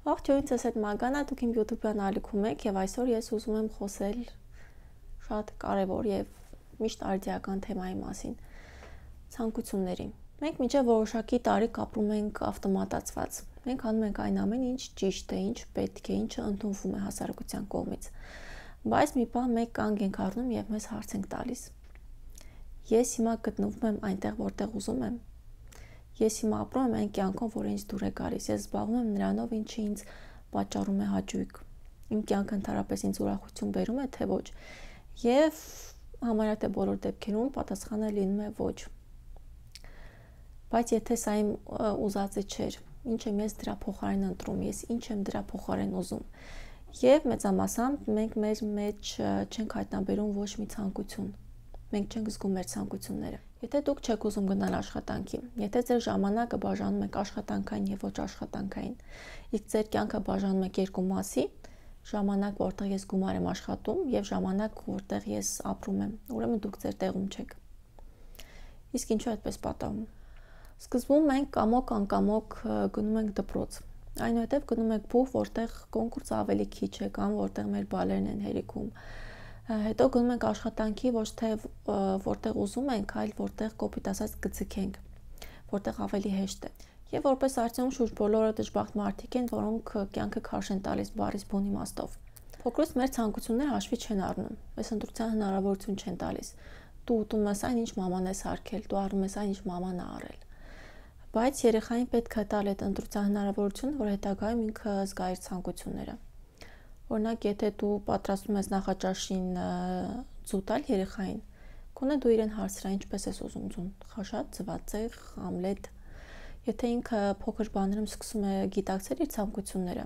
Ողջույն, ես եմ Մագանա, դուք իմ YouTube-յան ալիքում եք եւ այսօր ես ուզում եմ խոսել շատ կարևոր եւ միշտ արդիական թեմայի մասին՝ ցանկությունների։ Մենք մինչև որոշակի տարիք ապրում ենք ավտոմատացված։ Մենք անում ենք այն ամեն ինչ ճիշտ է, ինչ պետք է, ինչը ընդունվում է հասարակության կողմից։ Բայց մի բան մեկ կանգ ենք առնում եւ մեզ հարց ենք տալիս. ես հիմա գտնվում եմ այնտեղ, որտեղ ուզում եմ։ Ես հիմա ապրում եմ այն կյանքով, որը ինձ դուր է գալիս։ Ես զբաղվում եմ նրանով, ինչը ինձ պատճառում է հաճույք։ Իմ կյանքը ընդհանրապես ինձ ուրախություն բերում է, թե ոչ։ Եվ համարյա թե բոլոր դեպքերում պատասխանը լինում է ոչ։ Բայց եթե սա իմ ուզածը չէր, ինչ եմ ես դրա փոխարեն ընտրում, ես ինչ եմ դրա փոխարեն ուզում։ Եվ մեծամասամբ մենք մեր մեջ չենք հայտնաբերում ոչ մի ցանկություն։ Մենք չենք զգում մեր ցանկությունները։ Եթե դուք չեք ուզում գնալ աշխատանքի, եթե ձեր ժամանակը բաժանում եք աշխատանքային եւ ոչ աշխատանքային, իսկ ձեր կյանքը բաժանում եք երկու մասի, ժամանակ, որտեղ ես գումար եմ աշխատում, եւ ժամանակ, որտեղ ես ապրում եմ, ուրեմն դուք ձեր տեղում չեք։ Իսկ ինչու այդպես պատահում։ Սկզբում մենք կամոք-անկամոք գնում ենք դպրոց։ Այնուհետև գնում ենք փուխ, որտեղ կոնկուրսը ավելի քիչ է կամ որտեղ մեր բալերն են հերիքում։ Հետո գնում ենք աշխատանքի, ոչ թե որտեղ ուզում ենք, այլ որտեղ կոպիտ ասած կձգենք, որտեղ ավելի հեշտ է։ Եվ որպես արդյունք շուրջ բոլորը դժբախտ մարդիկ են, որոնք կյանքը քարշ են տալիս բառից բուն իմաստով։ Փոքրուց մեր ցանկությունները հաշվի չեն առնում, այս ընտրության հնարավորություն չեն տալիս։ Դու ուտում ես այն, ինչ մաման ես հարգել, դու առնում ես այն, ինչ մաման է առել։ Բայց երեխային պետք է տալ այդ ընտրության հնարավորությունը, որ հետագայում ինքը զգա իր ցանկությունները։ Օրինակ, եթե դու պատրաստում ես նախաճաշին ձու տալ երեխային, կոնե դու իրեն հարցրա ինչպես ես ուզում ձուն, խաշած, ձվածեղ, ամլետ։ Եթե ինքը փոքր բաներում սկսում է գիտակցել իր ցանկությունները,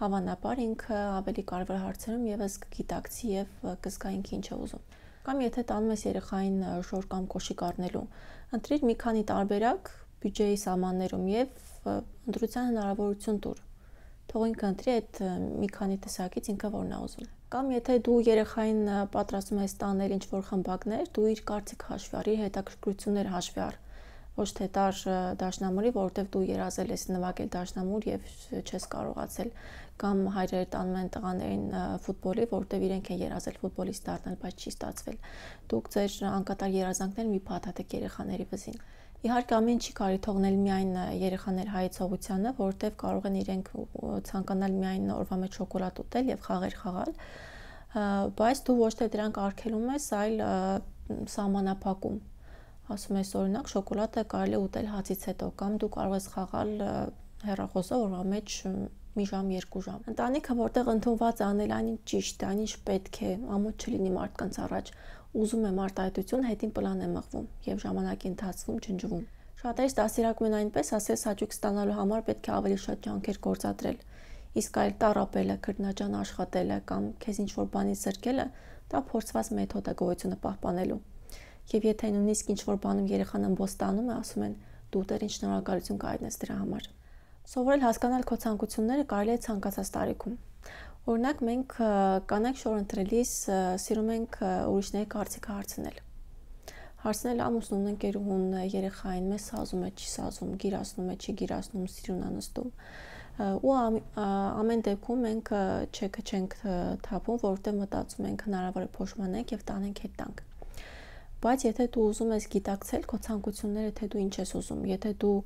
հավանաբար ինքը ավելի կարևոր հարցերում եւս կգիտակցի եւ կզգա ինքը ինչ է ուզում։ Կամ եթե տանում ես երեխային շոր կամ կոշիկ առնելու, ընտրիր մի քանի տարբերակ բյուջեի սահմաններում եւ ընտրության հնարավորություն տուր։ Թող ինքը ընտրի այդ մի քանի տեսակից ինքը որն է ուզում։ Կամ եթե դու երեխային պատրաստում ես տանել ինչ-որ խմբակներ, դու իր կարծիքը հաշվի առ, իր հետաքրքրությունները հաշվի առ։ Ոչ թե տար դաշնամուրի, որովհետև դու երազել ես նվագել դաշնամուր եւ չես կարողացել, կամ հայրերը տանում են տղաներին ֆուտբոլի, որովհետև իրենք են երազել ֆուտբոլիստ դառնալ, բայց չի ստացվել։ Դուք ձեր անկատար երազանքներն մի փաթաթեք երեխաների վզին։ Իհարկե ամեն ինչի կարի թողնել միայն երեխաների հայեցողությանը, որովհետև կարող են իրենք ցանկանալ միայն օրվա մեջ շոկոլադ ուտել եւ խաղեր խաղալ, բայց դու ոչ թե դրանք արգելում ես, այլ սահմանափակում։ Ասում ես օրինակ շոկոլադը կարելի է ուտել հացից հետո, կամ դու կարող ես խաղալ հեռախոսով օրվա մեջ մի ժամ, երկու ժամ։ Ընտանիքը, որտեղ ընդունված է անել այն ինչ ճիշտ է, այն ինչ պետք է, ամոթ չլինի մարդկանց առաջ, ուզում եմ արտահայտություն, հետին պլան է մղվում եւ ժամանակի ընթացքում ջնջվում։ Շատերս դաստիարակում են այնպես, ասես հաճույք ստանալու համար պետք է ավելի շատ ջանքեր գործադրել։ Իսկ այլ տառապելը, քրտնաջան աշխատելը կամ քեզ ինչ-որ բանից զրկելը, դա փորձված մեթոդ է գոյությունը պահպանելու։ Եվ եթե նույնիսկ ինչ-որ բանում երեխան ըմբոստանում է, ասում են դու դեռ ինչ շնորհակալություն կայտնես դրա համար։ Սովորել հասկանալ քո ցանկությունները կարելի է ցանկացած տարիքում։ Օրինակ մենք կանայք շոր ընտրելիս սիրում ենք ուրիշների կարծիքը հարցնել։ Հարցնել ամուսնուն, ընկերուհուն, երեխային, մեզ սազում է, չի սազում, գիրացնում է, չի գիրացնում, սիրուն անստում։ Ու ամեն դեպքում մենք չեքը չենք թափում, որովհետև մտածում ենք հնարավոր է փոշմանենք եւ տանենք հետ տանք։ Բայց եթե դու ուզում ես գիտակցել քո ցանկությունները, թե դու ինչ ես ուզում, եթե դու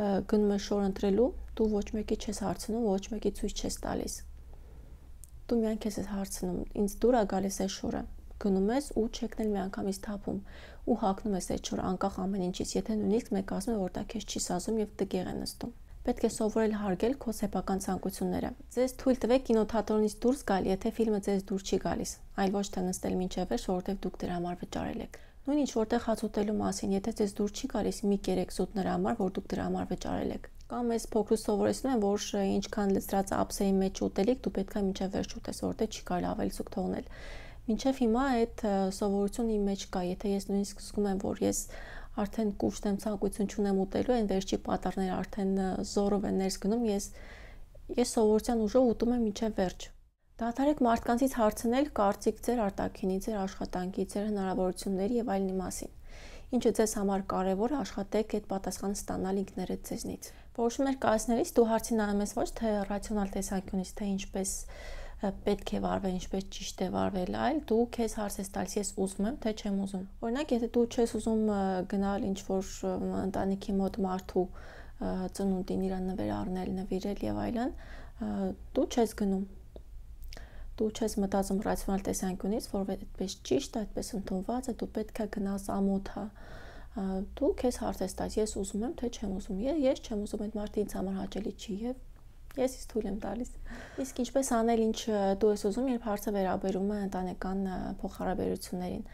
գնում ես շոր ընտրելու, դու ոչ մեկի չես հարցնում, ոչ մեկի ցույց չես տալիս։ Դու միայն քեզ ես հարցնում, ինձ դուր է գալիս այս շորը, գնում ես ու չեկնել միանգամից թափում ու հագնում ես այդ շորը անկախ ամեն ինչից, եթե նույնիսկ մեկ ասում է, որ դա քեզ չի սազում եւ տգեղ է նստում։ Պետք է սովորել հարգել քո սեփական ցանկությունները։ Ձեզ թույլ տվեք կինոթատրոնից դուրս գալ, եթե ֆիլմը ձեզ դուր չի գալիս, այլ ոչ թե նստել մինչև վերջ, որովհետև դուք դրա համար վճարել եք։ Նույն ինչ որտեղ հաց ուտելու մասին, եթե ձեզ դուր չի գալիս, մի կերեք զուտ նրա համար, որ դուք դրա համար վճարել եք։ Կամ ես փոքրուց սովորեցնում եմ, որ ինչքան լցրած ափսեի մեջ ուտելիք, դու պետք է մինչև վերջ ուտես, որտեղ չի կարելի ավելի զուգ թողնել։ Մինչև հիմա այդ սովորությունը իմ մեջ կա, եթե ես նույնիսկ զգում եմ, որ ես արդեն կուշտ եմ, ցանկություն չունեմ ուտելու, այն վերջի պատառները արդեն զորով են ներս գնում, ես սովորության ուժով ուտում եմ մինչև վերջ։ Դադարեք մարդկանցից հարցնել կարծիք ձեր արտաքինի, ձեր աշխատանքի, ձեր հնարավորությունների եւ այլնի մասին։ Ինչը ձեզ համար կարևոր է, աշխատեք այդ պատասխանը ստանալ ինքներդ ձեզնից։ Որոշումներ կայացնելիս դու հարցի նայում ես ոչ թե ռացիոնալ տեսանկյունից, թե ինչպես պետք է վարվել, ինչպես ճիշտ է վարվել, այլ դու քեզ հարց ես տալիս, ես ուզում եմ, թե չեմ ուզում։ Օրինակ, եթե դու չես ուզում գնալ ինչ-որ ընտանիքի մոտ մարդու ծնունդին իրան նվեր առնել, նվիրել եւ այլն, դու չես գնում։ Դու չես մտածում ռացիոնալ տեսանկյունից, որ այդպես ճիշտ, այդպես ընդունված է, դու պետք է գնաս ամոթա։ Դու քեզ հարց ես տալիս, ես ուզում եմ, թե չեմ ուզում։ Ես չեմ ուզում, այդ մարդը ինձ համար հաճելի չի եւ ես ինձ թույլ եմ տալիս։ Իսկ ինչպես անել, ինչ դու ես ուզում, երբ հարցը վերաբերում է ընտանեկան փոխհարաբերություններին։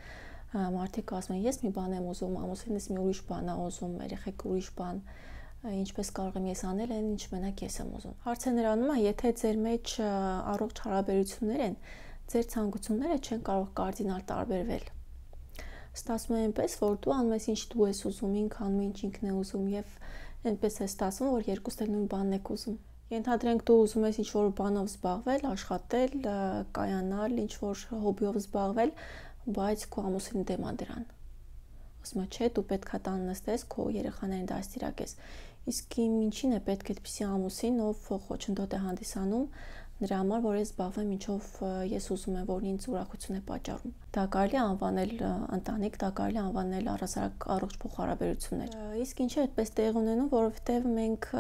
Մարդիկ ասում են, ես մի բան եմ ուզում, ամուսինս մի ուրիշ բան է ուզում, երեխեք ուրիշ բան, ինչպես կարող եմ ես անել այն, ինչ մենակ ես եմ ուզում։ Հարցը նրանում է, եթե ձեր մեջ առողջ հարաբերություններ են, ձեր ցանկությունները չեն կարող կարդինալ տարբերվել։ Ստացվում է այնպես, որ դու անում ես ինչ դու ես ուզում, ինքն անում է ինչ ինքն է ուզում եւ այնպես է ստացվում, որ երկուսն էլ նույն բանն եք ուզում։ Ենթադրենք դու ուզում ես ինչ-որ բանով զբաղվել, աշխատել, կայանալ, ինչ-որ հոբիով զբաղվել, բայց քո ամուսինը դեմ է դրան։ Ասում է, չէ, դու պետքա տան նստես, քո երեխաներին դաստիարակես։ Իսկ ինչին է պետք այդպիսի ամուսին, ով խոչընդոտ է հանդիսանում նրա համար, որ ես զբաղվեմ ինչով ես ուզում եմ, որ ինձ ուրախություն է պատճառում։ Դա կարելի է անվանել ընտանիք, դա կարելի է անվանել առհասարակ առողջ փոխհարաբերություններ։ Իսկ ինչի է այդպես տեղ ունենում, որովհետև մենք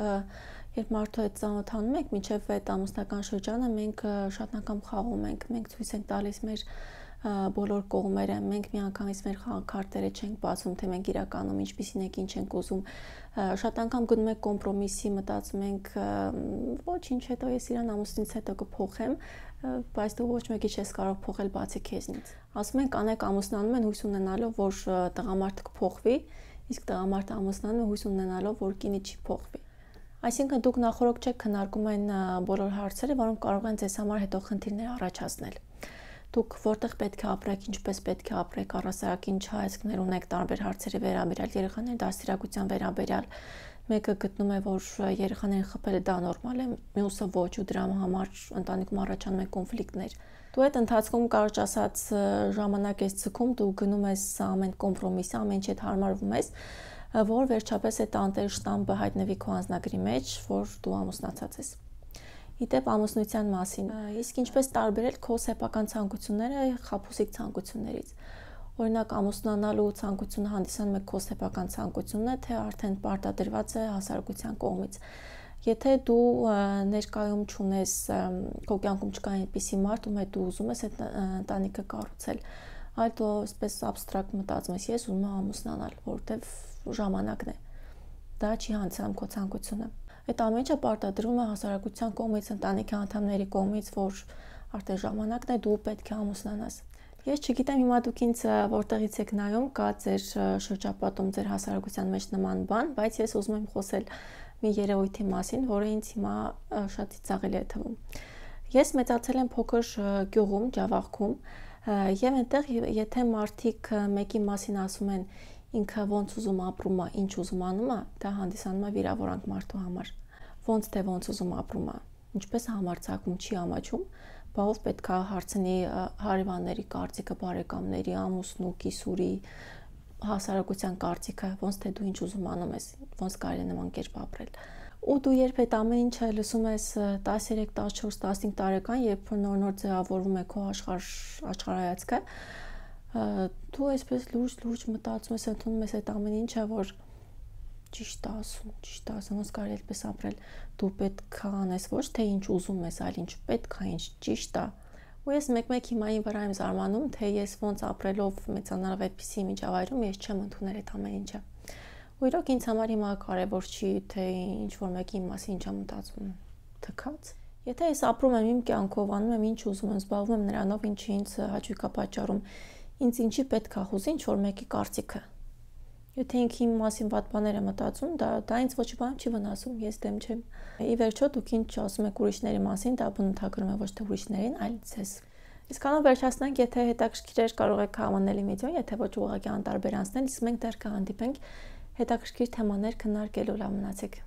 երբ մարդու հետ ծանոթանում ենք, մինչև այդ ամուսնական շրջանը մենք շատ անգամ խաղում ենք, մենք ցույց ենք տալիս մեր բոլոր կողմերը, մենք միանգամից մեր քարտերը չենք բացում, թե մենք իրականում ինչպիսին ենք, ինչ ենք ուզում։ Շատ անգամ գնում ենք կոմպրոմիսի, մտածում ենք, ոչինչ, հետո ես իրան ամուսինից հետո կփոխեմ, բայց դու ոչ մեկի չես կարող փոխել բացի քեզնից։ Ասում են, կանայք ամուսնանում են հույս ունենալով, որ տղամարդը կփոխվի, իսկ տղամարդը ամուսնանում է հույս ունենալով, որ կինը չի փոխվի։ Այսինքն դուք նախորդ չեք քննարկում այն բոլոր հարցերը, որոնք կարող են ձեզ համար հետո խնդիրներ առաջացնել։ Դուք որտեղ պետք է ապրեք, ինչպես պետք է ապրեք, առհասարակ ինչ հայացքներ ունեք տարբեր հարցերի վերաբերյալ, երեխաների դաստիարակության վերաբերյալ։ Մեկը գտնում է, որ երեխաներին խփելը դա նորմալ է, մյուսը ոչ, ու դրա համար ընտանիքում առաջանում են կոնֆլիկտներ։ Դու այդ ընթացքում կարճ ասած ժամանակ ես ցկում, դու գնում ես ամեն կոմպրոմիսի, ամեն ինչ հետ հարմարվում ես, որ վերջապես այդ անտեր շտամբը հայտնվի քո անձնագրի մեջ, որ դու ամուսնացած ես։ Իդեպ ամուսնության մասին, իսկ ինչպես տարբերել քո սեփական ցանկությունները խաբուսիկ ցանկություններից։ Օրինակ ամուսնանալու ցանկությունը հանդիսանում է քո սեփական ցանկությունն է, թե արդեն պարտադրված է հասարակության կողմից։ Եթե դու ներկայում չունես, քո կյանքում չկա այնպիսի մարդ, ում հետ դու ուզում ես այդ ընտանիքը կառուցել, այլ դու այսպես абստրակտ մտածում ես, ես ուզում եմ ամուսնանալ, որովհետև ժամանակն է։ Դա չի հանդիսանում քո ցանկությունը։ Այդ ամեն ինչը պարտադրվում է հասարակության կողմից, ընտանիքի անդամների կողմից, որ արդեն ժամանակն է, դու պետք է ամուսնանաս։ Ես չգիտեմ հիմա դուք ինձ որտեղից եք նայում, կա ձեր շրջապատում, ձեր հասարակության մեջ նման բան, բայց ես ուզում եմ խոսել մի երևույթի մասին, որը ինձ հիմա շատ ծիծաղելի է թվում։ Ես մեծացել եմ փոքր գյուղում, Ջավախքում, եւ այնտեղ եթե մարդիկ մեկի մասին ասում են ինքը ոնց ուզում ապրում է, ինչ ուզում անում է, դա հանդիսանում է վիրավորանք մարդու համար։ Ոնց թե ոնց ուզում ապրում է, ինչպես համարձակում չի ամաչում, բա ով պետք է հարցնի հարևանների կարծիքը, բարեկամների, ամուսնու, կիսուրի, հասարակության կարծիքը, ոնց թե դու ինչ ուզում անում ես, ոնց կարելի է նման կերպ ապրել։ Ու դու երբ այդ ամեն ինչը լսում ես 13, 14, 15 տարեկան, երբ նոր ձևավորվում է քո աշխարհայացքը, դու այսպես լուրջ մտածում ես, ընդունում ես այդ ամեն ինչը, որ ճիշտ ասում, ոնց կարելի է այդպես ապրել։ Դու պետք է անես ոչ թե ինչ ուզում ես, այլ ինչ պետք է, ինչ ճիշտ է։ Ու ես մեկ-մեկ հիմա այն վրա եմ զարմանում, թե ես ոնց ապրելով մեծանալով այդպիսի միջավայրում ես չեմ ընդունել այդ ամեն ինչը։ Ու իրոք ինձ համար հիմա կարևոր չի, թե ինչ որ մեկի մասին ինչ եմ մտածում, թքած։ Եթե ես ապրում եմ իմ կյանքով, անում եմ ինչ ուզում եմ, զբաղվում եմ նրանով, ինչը ինձ հաճույք է պատճառում, ինձ ինչի պետք է խոզի ինչ որ մեկի կարծիքը։ Եթե ինքը իմ մասին վատ բաներ է մտածում, դա ինձ ոչ բան չի վնասում, ես դեմ չեմ։ Ի վերջո դուք ինչ ասում եք ուրիշների մասին, դա բնութագրում է ոչ թե ուրիշներին, այլ ձեզ։ Իսկանում վերջացնենք, եթե հետաքրքիր էր, կարող եք համանել իմ վիդեոն, եթե ոչ ուղղակի անտարբեր անցնել, իսկ մենք դեռ կհանդիպենք հետաքրքիր թեմաներ քննարկելու, լավ մնացեք։